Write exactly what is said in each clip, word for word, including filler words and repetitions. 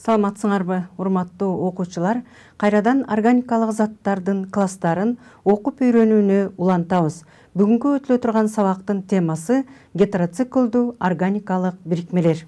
Саламатсыңарбы, урматтуу окуучулар? Кайрадан органикалык заттардын класстарын окуп үйрөнүүнү улантабыз. Бүгүнкү өтүлө турган сабактын темасы гетероциклдуу органикалык бирикмелер.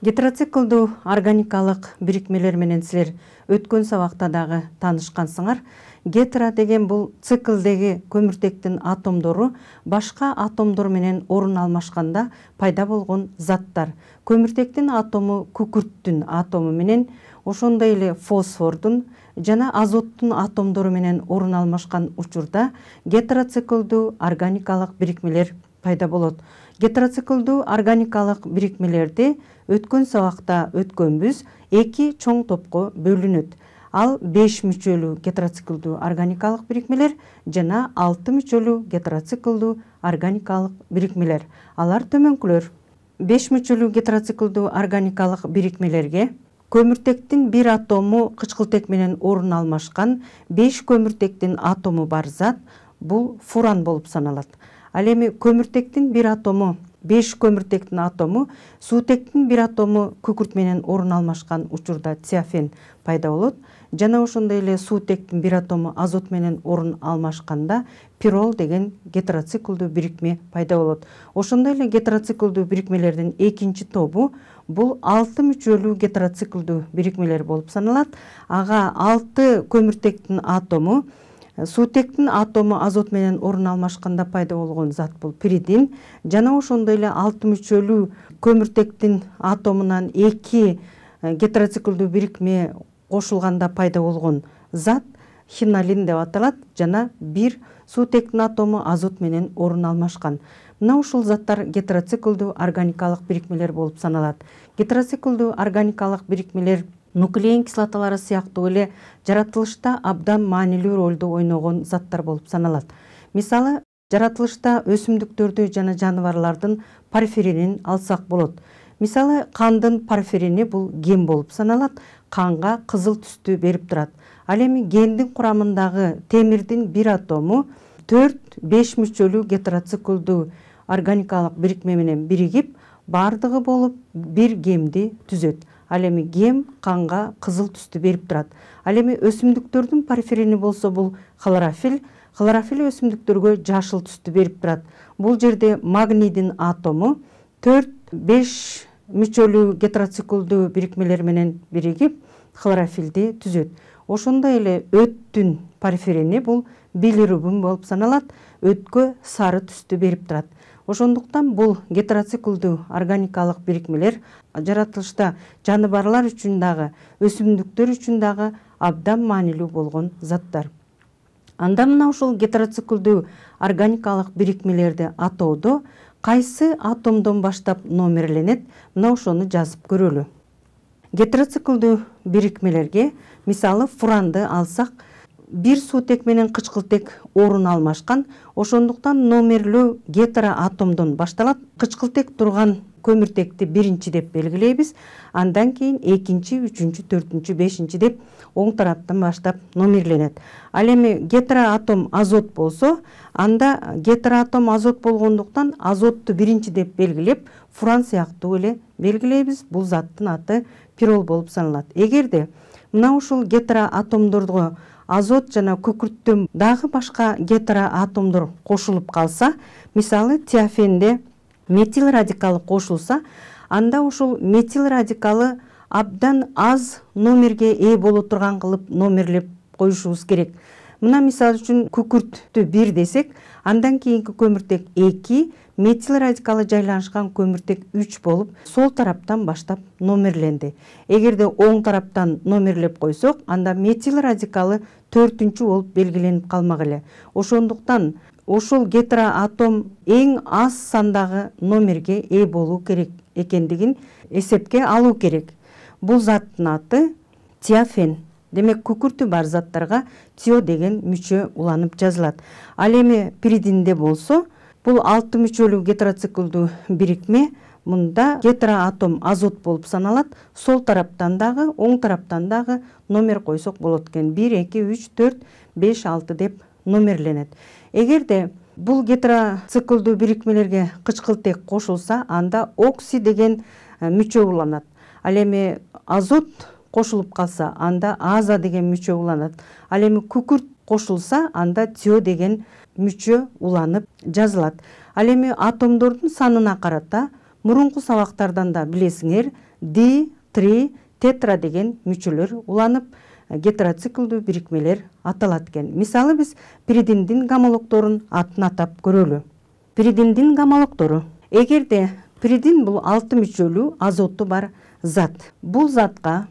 Гетероциклдуу органикалык бирикмелер менен силер өткөн сабакта дагы таанышкансыңар. Гетеро деген бул циклдеги көмүртектин атомдору башка атомдор менен орун алмашканда пайда болгон заттар. Көмүртектин атому күкүрттүн атому менен, ошондой эле фосфордун жана азоттун атомдору менен орун алмашкан учурда гетероциклдуу органикалык бирикмелер пайда болот. Гетероциклдуу органикалык бирикмелерди өткөн сабакта өткөнбүз эки чоң топко бөлүнөт. Ал беш мүчөлүү гетероциклдуу органикалык бирикмелер жана алты мүчөлүү гетероциклдуу органикалык бирикмелер. Алар төмөнкүлөр. беш мүчөлүү гетероциклдуу органикалык бирикмелерге көмүртектин бир атому кычкылтек менен орун алмашкан беш көмүртектин атому бар зат бул фуран болуп саналат. Ал эми көмүртектин бир атому беш көмүртектин атому суутектин бир атому күкүрт менен орун алмашкан учурда тиафен пайда болот. Жана ошондой эле суутектин бир атому азот менен орун алмашканда пирол деген гетероциклдуу бирикме пайда болот. Ошондой эле гетероциклдуу бирикмелердин экинчи тобу бул алты мүчөлүү гетероциклдуу бирикмелер болуп саналат. Ага алты көмүртектин атому суутектин атому азот менен орун алмашканда пайда болгон зат бул пиридин. Жана ошондой эле алты мүчөлүү көмүртектин атомунан эки гетероциклдуу бирикме кошулганда пайда болгон зат хинолин деп аталат. Жана бир суутектин атому азот менен орун алмашкан. Мына ушул заттар гетероциклдуу органикалык бирикмелер болуп саналат. Гетероциклдуу органикалык бирикмелер нуклеин кислоталары сыяктуу эле жаратылышта абдан маанилүү ролду ойногон заттар болуп саналат. Мисалы, жаратылышта өсүмдүктөрдү жана жаныбарлардын порфиринин алсак болот. Мисалы, кандын порфирини бул ген болуп саналат, канга кызыл түстү берип турат. Ал эми гендин курамындагы темирдин бир атому төрт-беш мүчөлүү гетероциклдуу органикалык бирикме менен биригип, бардыгы болуп бир гемди түзөт. Ал эми гем канга кызыл түстү берип турат. Ал эми өсүмдүктөрдүн порфирини болсо бул хлорофилл, хлорофилл өсүмдүктөргө жашыл түстү берип турат. Бул жерде магнийдин атому төрт-беш мүчөлүү гетероциклдуу бирикмелер менен биригип хлорофиллди түзөт. Ошондой эле өттүн порфирини бул билирубин болуп саналат. Өткө сары түстү берип турат. Ошондуктан бул гетероциклдуу органикалык бирикмелер жаратылышта жаныбарлар үчүн дагы, өсүмдүктөр үчүн дагы абдан маанилүү болгон заттар. Анда мына ушул гетероциклдуу органикалык бирикмелерди атоодо кайсы атомдон баштап номерленет, мына ошону жазып көрөлү. Гетероциклдуу бирикмелерге, мисалы, фуранды алсак, бир суутек менен кычкылтек орун алмашкан, ошондуктан номерлөө гетероатомдон башталат. Кычкылтек турган көмүртекти биринчи деп белгилейбиз, андан кийин экинчи, үчүнчү, төртүнчү, бешинчи деп оң тараптан баштап номерленет. Ал эми гетероатом азот болсо, анда гетероатом азот болгондуктан азотту биринчи деп белгилеп, фуран сыяктуу эле белгилейбиз. Бул заттын аты пирол болуп саналат. Эгерде мына ушул гетероатомдорго азот жана күкүрттөн дагы башка гетероатомдор кошулуп калса, мисалы, тиафенде метил радикалы кошулса, анда ушул метил радикалы абдан аз номерге ээ боло турган кылып номерлеп коюшубуз керек. Мына мисалы үчүн күкүрттү бир десек, андан кийинки көмүртек эки, метил радикалы жайланышкан көмүртек үч болуп, сол тараптан баштап номерленди. Эгерде оң тараптан номерлеп койсок, анда метил радикалы төртүнчү болуп белгиленип калмак эле. Ошондуктан ошол гетероатом эң аз сандагы номерге ээ болуу керек экендигин эсепке алуу керек. Бул заттын аты тиафен. Демек күкүртү бар заттарга тио деген мүчө уланып жазылат. Ал эми пиридинде болсо бул алты мүчөлүү гетероциклдүү бирикме. Мында гетероатом азот болуп саналат. Сол тараптан дагы, оң тараптан дагы номер койсок болот экен. бир, эки, үч, төрт, беш, алты деп номерленет. Эгерде бул гетероциклдүү бирикмелерге кычкылтек кошулса, анда окси деген мүчө уланат. Ал эми азот кошулуп калса, анда аза деген мүчө уланат. Ал эми күкүрт кошулса, анда тио деген мүчө уланып жазылат. Ал эми атомдордун санына карата мурунку сабактардан да билесиңер, ди, три, тетра деген мүчөлөр уланып гетероциклдүү бирикмелер аталат экен. Мисалы биз пиридиндин гомологдорун атын атап көрөлү. Пиридиндин гомологдору. Эгерде пиридин бул алты мүчөлүү азоту бар зат. Бул затка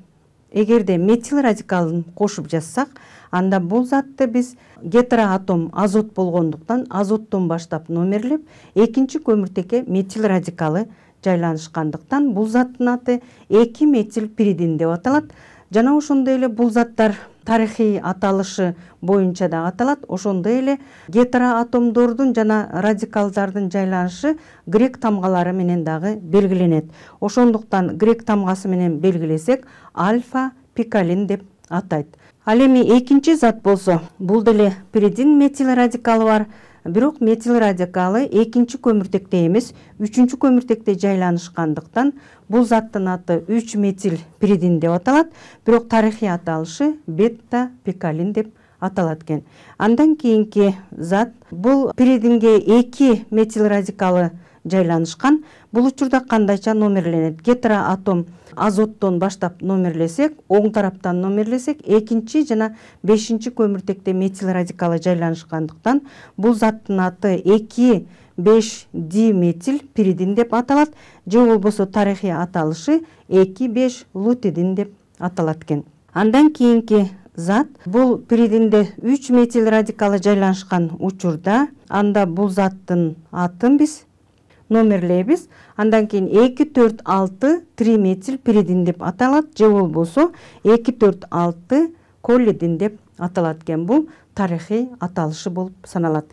эгерде метил радикалын кошуп жазсак, анда бул затты биз гетероатом азот болгондуктан азоттон баштап номерлеп, экинчи көмүртекке метил радикалы жайланышкандыктан бул заттын аты эки метил пиридин деп аталат. Жана ошондой эле бул заттар тарыхый аталышы боюнча да аталат. Ошондой эле гетероатомдордун жана радикалдардын жайланышы грек тамгалары менен дагы белгиленет. Ошондуктан грек тамгасы менен белгилесек, альфа пикалин деп атайт. Ал эми экинчи зат болсо, бул деле пиридин метил радикалы бар. Бирок метил радикалы экинчи көмүртекте эмес, үчүнчү көмүртекте жайланышкандыктан бул заттын аты үч метил пиридин деп аталат. Бирок тарыхый аталышы бета пикалин деп аталат экен. Андан кийинки зат бул пиридинге эки метил радикалы жайланышкан. Бул учурда кандайча номерленет? Гетероатом азоттон баштап номерлесек, оң тараптан номерлесек, экинчи жана бешинчи көмүртекте метил радикалы жайланышкандыктан бул заттын аты эки беш диметил пиридин деп аталат. Же болбосо тарыхый аталышы эки беш лутидин деп аталат экен. Андан кийинки зат бул пиридинде үч метил радикалы жайланышкан учурда, анда бул заттын атын биз номерлейбиз. Андан кийин эки төрт алты триметил пиридин деп аталат. Же болбосо эки төрт алты коллидин деп аталат экен. Бул тарыхый аталышы болуп саналат.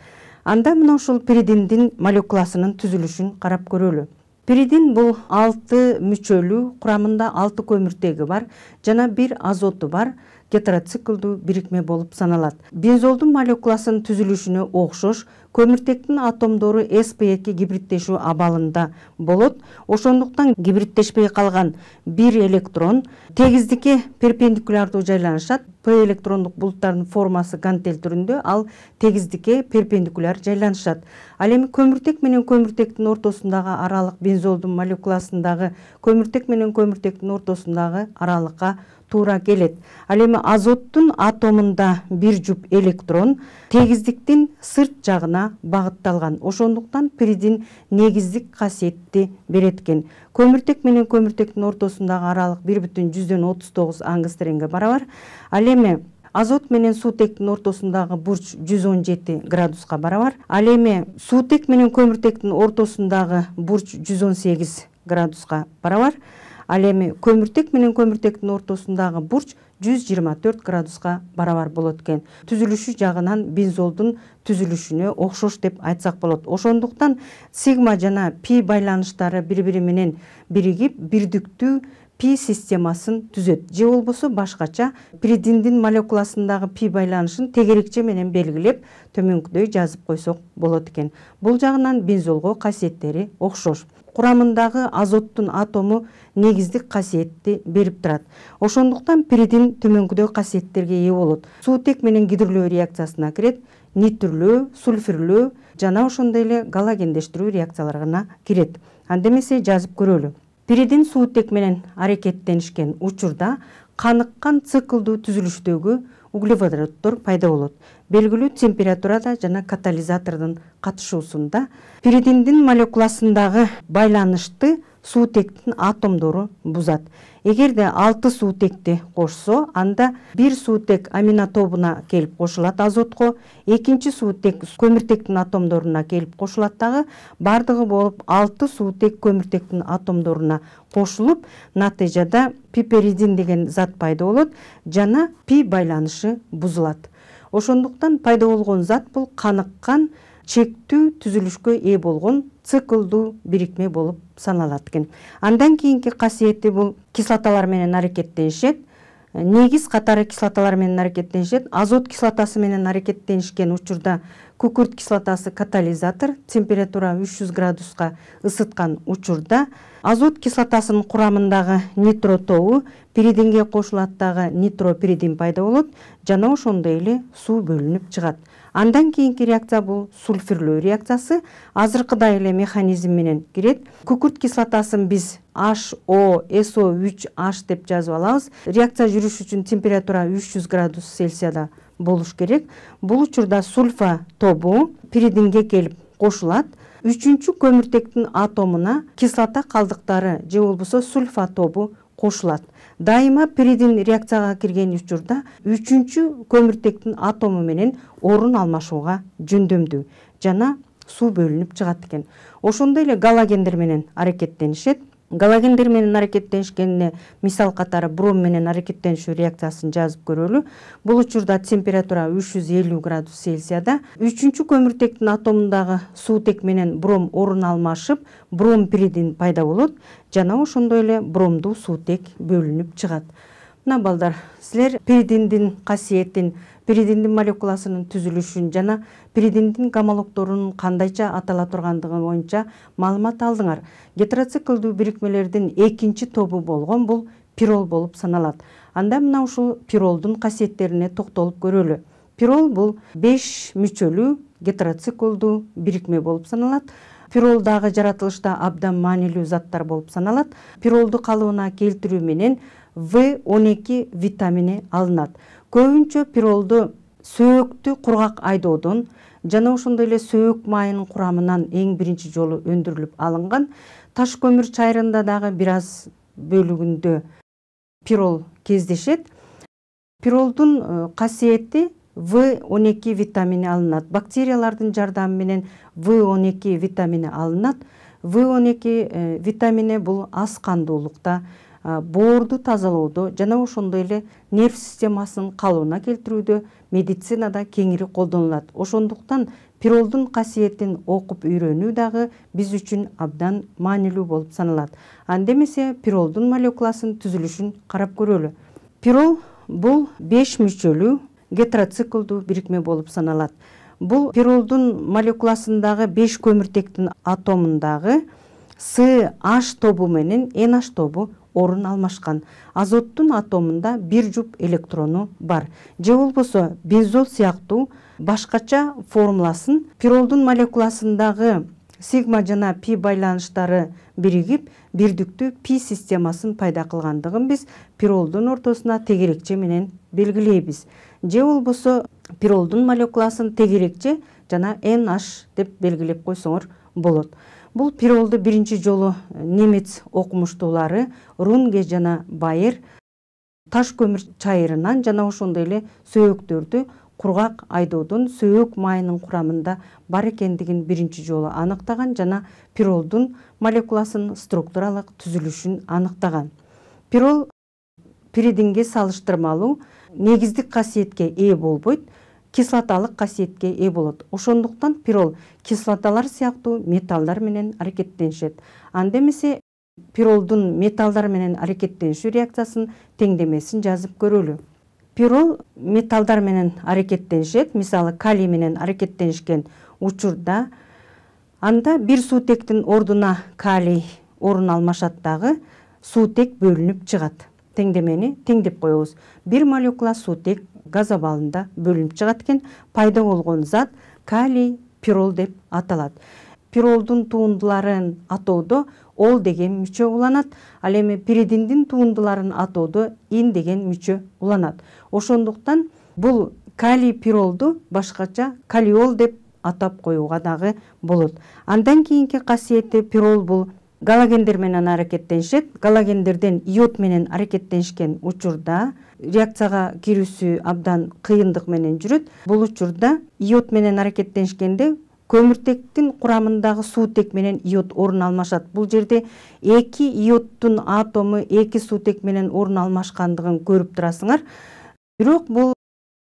Анда мына ушул пиридиндин молекуласынын түзүлүшүн карап көрөлү. Пиридин бул алты мүчөлүү, курамында алты көмүртеги бар жана бир азоту бар гетероциклдүү бирикме болуп саналат. Бензолдун молекуласынын түзүлүшүнө окшош көмүртектин атомдору эс пи эки гибридтешүү абалында болот. Ошондуктан гибридтешпей калган бир электрон тегиздикке перпендикулярдуу жайланышат. П электрондук булуттардын формасы гантель түрүндө, ал тегиздикке перпендикуляр жайланышат. Ал эми көмүртек менен көмүртектин ортосундагы аралык бензолдун молекуласындагы көмүртек менен көмүртектин ортосундагы аралыкка туура келет. Ал эми азоттун атомунда бир жуп электрон тегиздиктин сырт жагына багытталган. Ошондуктан пиридин негиздик касиетти берет экен. Көмүртек менен көмүртектин ортосундагы аралык бир бүтүн жүздөн отуз тогуз ангстренге барабар. Ал эми азот менен суутектин ортосундагы бурч жүз он жети градуска барабар. Ал эми суутек менен көмүртектин ортосундагы бурч жүз он сегиз градуска барабар. Ал эми көмүртек менен көмүртектин ортосундагы бурч жүз жыйырма төрт градуска барабар болот экен. Түзүлүшү жагынан бензолдун түзүлүшүнө окшош деп айтсак болот. Ошондуктан сигма жана пи байланыштары бири-бири менен биригип, бирдиктүү пи системасын түзөт. Же болбосо башкача пиридиндин молекуласындагы пи байланышын тегерекче менен белгилеп, төмөнкүдөй жазып койсок болот экен. Бул жагынан бензолго касиеттери окшош. Курамындагы азоттун атому негиздик касиетти берип турат. Ошондуктан пиридин төмөнкүдөй касиеттерге ээ болот. Суутек менен гидрөлөө реакциясына кирет, нитрлөө, сульфурлөө жана ошондой эле галогендештирүү реакцияларына кирет. Анда эмесе жазып көрөлү. Пиридин суутек менен аракеттенишкен учурда каныккан циклдуу түзүлүштөгү углеводороддор пайда болот. Белгилүү температурада жана катализатордун катышуусунда пиридиндин молекуласындагы байланышты суутектин атомдору бузат. Эгерде алты суутекти кошсо, анда бир суутек амина тобуна келип кошулат азотко, экинчи суутек көмүртектин атомдоруна келип кошулат дагы, бардыгы болуп алты суутек көмүртектин атомдоруна кошулуп, натыйжада пиперидин деген зат пайда болот жана пи байланышы бузулат. Ошондуктан пайда болгон зат бул каныккан чектүү түзүлүшкө ээ болгон циклдуу бирикме болуп саналат экен. Андан кийинки касиети бул кислоталар менен аракеттенишет. Негиз катары кислоталар менен аракеттенишет. Азот кислотасы менен аракеттенишкен учурда күкүрт кислотасы катализатор, температура үч жүз градуска ысыткан учурда азот кислотасынын курамындагы нитро тобу пиридинге кошулат дагы нитропиридин пайда болот жана ошондой эле суу бөлүнүп чыгат. Андан кийинки реакция бул сульфурлөө реакциясы. Азыркыдай эле механизм менен кирет. Күкүрт кислотасын биз эйч о эс о үч эйч деп жазып алабыз. Реакция жүрүш үчүн температура үч жүз градус Цельсияда болуш керек. Бул учурда сульфа тобу пиридинге келип кошулат. Үчүнчү көмүртектин атомуна кислота калдыктары же болбосо сульфа тобу кошулат. Дайыма пиридин реакцияга кирген учурда үчүнчү көмүртектин атому менен орун алмашууга жөндөмдүү жана суу бөлүнүп чыгат экен. Ошондой эле галогендер менен аракеттенишет. Галогендер менен аракеттенишкенине мисал катары бром менен аракеттенишүү реакциясын жазып көрөлү. Бул учурда температура үч жүз элүү градус Цельсияда үчүнчү көмүртектин атомундагы суутек менен бром орун алмашып, бром пиридин пайда болот жана ошондой эле бромдуу суутек бөлүнүп чыгат. Мына балдар, силер пиридиндин касиетин, пиридиндин молекуласынын түзүлүшүн жана пиридиндин гомологдорунун кандайча атала тургандыгы боюнча маалымат алдыңар. Гетероциклдүү бирикмелердин экинчи тобу болгон бул пирол болуп саналат. Анда мына ушул пиролдун касиеттерине токтолуп көрөлү. Пирол бул беш мүчөлүү гетероциклдүү бирикме болуп саналат. Пирол дагы жаратылышта абдан маанилүү заттар болуп саналат. Пиролду калыбына келтирүү менен В он эки витамини алынат. Көбүнчө пиролду сөөктү кургак айдоодон жана ошондой эле сөөк майынын курамынан эң биринчи жолу өндүрүлүп алынган. Таш көмүр чайрында дагы бир аз бөлүгүндө пирол кездешет. Пиролдун касиети В он эки витамини алынат. Бактериялардын жардамы менен В он эки витамини алынат. В он эки витамини бул аз кандуулукта, боорду тазалоодо жана ошондой эле нерв системасынын калыбына келтирүүдө медицинада кеңири колдонулат. Ошондуктан пиролдун касиетин окуп үйрөнүү дагы биз үчүн абдан маанилүү болуп саналат. Анда эмесе пиролдун молекуласынын түзүлүшүн карап көрөлү. Пирол бул беш мүчөлүү гетероциклдүү бирикме болуп саналат. Бул пиролдун молекуласындагы беш көмүртектин атомундагы С H тобу менен Н H тобу орун алмашкан. Азоттун атомунда бир жуп электрону бар. Же болбосо бензол сыяктуу башкача формуласын пиролдун молекуласындагы сигма жана пи байланыштары биригип, бирдиктүү пи системасын пайда кылгандыгын биз пиролдун ортосуна тегерекче менен белгилейбиз. Же болбосо пиролдун молекуласын тегерекче жана Н H деп белгилеп койсоңор болот. Бул пиролду биринчи жолу немец окумуштуулары Рунге жана Байер таш көмүр чайырынан жана ошондой эле сөөктөрдү кургак айдоодон сөөк майынын курамында бар экендигин биринчи жолу аныктаган жана пиролдун молекуласынын структуралык түзүлүшүн аныктаган. Пирол пиридинге салыштырмалуу негиздик касиетке ээ болбойт, кислоталык касиетке ээ болот. Ошондуктан пирол кислоталар сыяктуу металлдар менен аракеттенишет. Анда эмесе пиролдун металлдар менен аракеттенишүү реакциясынын теңдемесин жазып көрөлү. Пирол металлдар менен аракеттенишет, мисалы калий менен аракеттенишкен учурда анда бир суутектин ордуна калий орун алмашат дагы суутек бөлүнүп чыгат. Теңдемени теңдеп коебуз. Бир молекула суутек газ абалында бөлүнүп чыгат экен. Пайда болгон зат калий пирол деп аталат. Пиролдун туундуларын атоодо ол деген мүчө уланат. Ал эми пиридиндин туундуларын атоодо ин деген мүчө уланат. Ошондуктан бул калий пиролду башкача калиол деп атап коюуга дагы болот. Андан кийинки касиети пирол бул галогендер менен аракеттенишет. Галогендерден иод менен аракеттенишкен учурда реакцияга кирүүсү абдан кыйындык менен жүрөт. Бул учурда иод менен аракеттенишкенде көмүртектин курамындагы суутек менен иод орун алмашат. Бул жерде эки иоддун атому эки суутек менен орун алмашкандыгын көрүп турасыңар. Бирок бул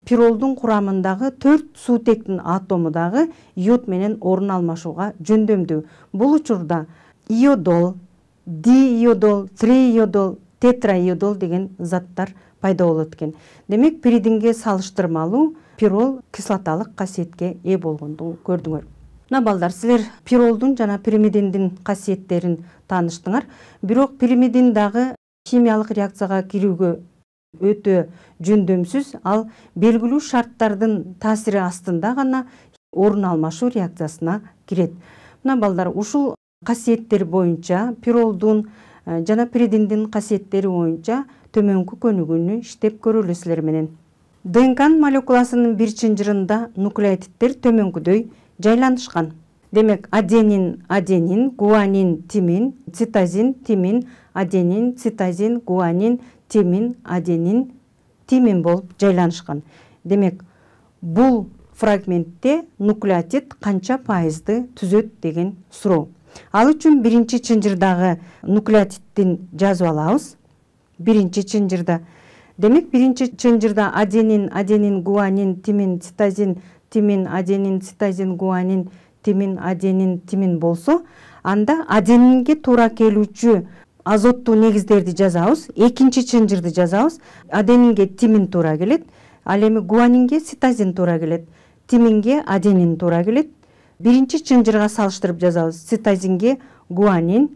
пиролдун курамындагы төрт суутектин атому дагы иод менен орун алмашууга жөндөмдүү. Бул учурда иодол, дииодол, трииодол, тетраиодол деген заттар пайда болот экен. Демек, пиридинге салыштырмалуу пирол кислоталык касиетке ээ болгондугун көрдүңөр. Мына балдар, силер пиролдун жана пиримидиндин касиеттерин тааныштыңар. Бирок пиримидин дагы химиялык реакцияга кирүүгө өтө жөндөмсүз, ал белгилүү шарттардын таасири астында гана орун алмашуу реакциясына кирет. Мына балдар, ушул касиеттер боюнча, пиролдун жана пиридиндин касиеттери боюнча төмөнкү көнүгүүнү иштеп көрөлү силер менен. ДНКнын молекуласынын бир чынжырында нуклеотиддер төмөнкүдөй жайланышкан. Демек, аденин, аденин, гуанин, тимин, цитозин, тимин, аденин, цитозин, гуанин, тимин, аденин, тимин болуп жайланышкан. Демек, бул фрагментте нуклеотид канча пайызды түзөт деген суроо. Ал үчүн биринчи чынжырдагы нуклеотиддин жазып алабыз. Биринчи чынжырда. Демек, биринчи чынжырда аденин, аденин, гуанин, тимин, цитозин, тимин, аденин, цитозин, гуанин, тимин, аденин, тимин болсо, анда аденинге туура келүүчү азоттуу негиздерди жазабыз. Экинчи чынжырды жазабыз. Аденинге тимин туура келет. Ал эми гуанинге цитозин туура келет. Тиминге аденин туура келет. Биринчи чынжырга салыштырып жазабыз. Цитозинге гуанин,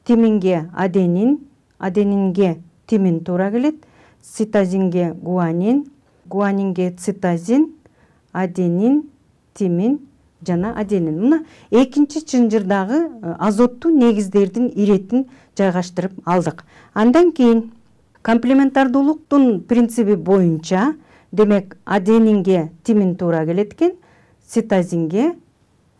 тиминге аденин, аденинге тимин туура келет. Цитозинге гуанин, гуанинге цитозин, аденин, тимин жана аденин. Мына экинчи чынжырдагы азоттуу негиздердин иретин жайгаштырып алдык. Андан кийин комплементардуулуктун принциби боюнча, демек, аденинге тимин туура келет экен, цитозинге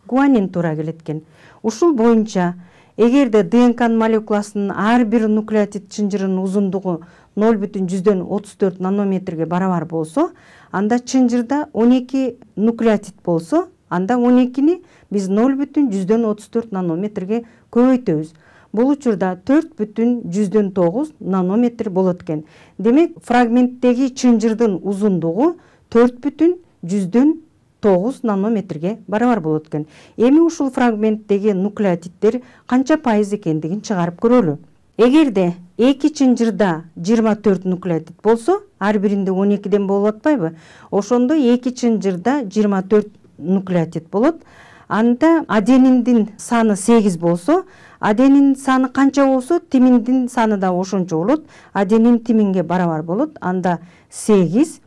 гуанин туура келет экен. Ушул боюнча, эгерде ДНКнын молекуласынын ар бир нуклеотид чынжырынын узундугу ноль бүтүн жүздөн отуз төрт нанометрге барабар болсо, анда чынжырда он эки нуклеотид болсо, анда он экини биз ноль бүтүн жүздөн отуз төрт нанометрге көбөйтөбүз. Бул учурда төрт бүтүн жүздөн тогуз нанометр болот экен. Демек, фрагменттеги чынжырдын узундугу төрт бүтүн жүздөн тогуз нанометрге барабар болот экен. Эми ушул фрагменттеги нуклеотиддер канча пайыз экендигин чыгарып көрөлү. Эгерде эки чынжырда жыйырма төрт нуклеотид болсо, ар биринде он экиден болуп атпайбы? Ошондо эки чынжырда жыйырма төрт нуклеотид болот. Анда адениндин саны сегиз болсо, аденин саны канча болсо, тиминдин саны да ошончо болот. Аденин тиминге барабар болот. Анда сегиз.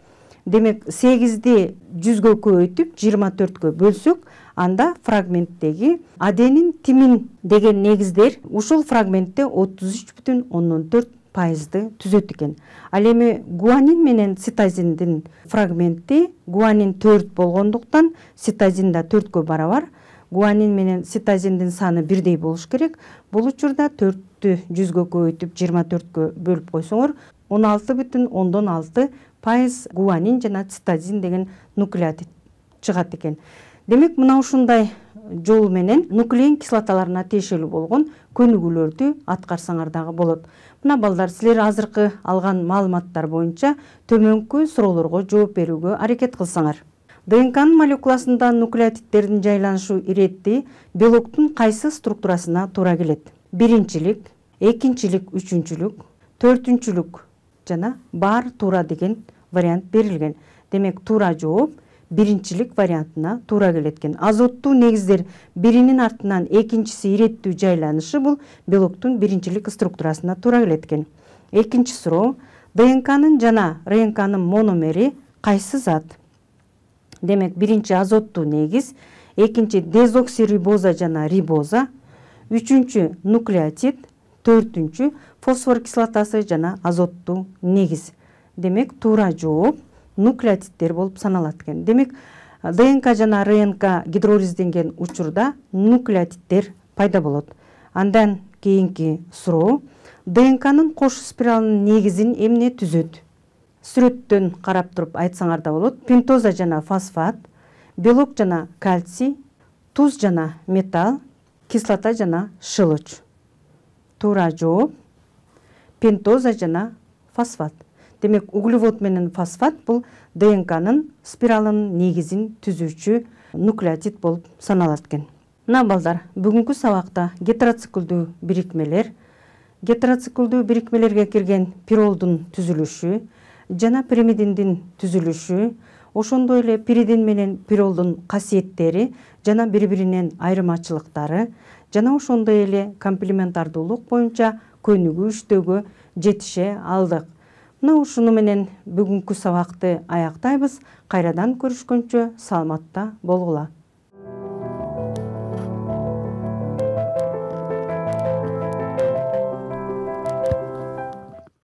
Демек, сегизди жүзгө көбөйтүп жыйырма төрткө бөлсөк, анда фрагменттеги аденин, тимин деген негиздер ушул фрагментте отуз үч бүтүн ондон төрт пайызды түзөт экен. Ал эми гуанин менен цитозиндин фрагменти гуанин төрт болгондуктан цитозин да төрткө барабар. Гуанин менен цитозиндин саны бирдей болуш керек. Бул учурда төрттү жүзгө көбөйтүп жыйырма төрткө бөлүп койсоңор, он алты бүтүн ондон алты пайыз гуанин жана цитозин деген нуклеотид чыгат экен. Демек, мына ушундай жол менен нуклеин кислоталарына тиешелүү болгон көнүгүүлөрдү аткарсаңар дагы болот. Мына балдар, силер азыркы алган маалыматтар боюнча төмөнкү суроолорго жооп берүүгө аракет кылсаңар. ДНКнын молекуласында нуклеотиддердин жайланышуу ирети белоктун кайсы структурасына туура келет? Биринчилик, экинчилик, үчүнчүлүк, төртүнчүлүк жана бар туура деген вариант берилген. Демек, туура жооп биринчилик вариантына туура келет экен. Азоттуу негиздер биринин артынан экинчиси иреттүү жайланышы бул белоктун биринчилик структурасына туура келет экен. Экинчи суроо: ДНКнын жана РНКнын мономери кайсы зат? Демек, биринчи азоттуу негиз, экинчи дезоксирибоза жана рибоза, үчүнчү нуклеотид, төртүнчү фосфор кислотасы жана азоттуу негиз. Демек, туура жооп нуклеотиддер болуп саналат экен. Демек, ДНК жана РНК гидролизденген учурда нуклеотиддер пайда болот. Андан кийинки суроо: ДНКнын кош спиралынын негизин эмне түзөт? Сүрөттөн карап туруп айтсаңар да болот. Пентоза жана фосфат, белок жана кальций, туз жана металл, кислота жана шылыч. Туура жооп пентоза жана фосфат. Демек, углевод менен фосфат бул ДНКнын спиралынын негизин түзүүчү нуклеотид болуп саналат экен. Мына балдар, бүгүнкү сабакта гетероциклдүү бирикмелер, гетероциклдүү бирикмелерге кирген пиролдун түзүлүшү жана пиримидиндин түзүлүшү, ошондой эле пиридин менен пиролдун касиеттери жана бири-биринен айырмачылыктары жана ошондой эле комплементардуулук боюнча көнүгүү-иштөөгө жетише алдык. Мына ушуну менен бүгүнкү сабакты аяктайбыз. Кайрадан көрүшкөнчө саламатта болгула.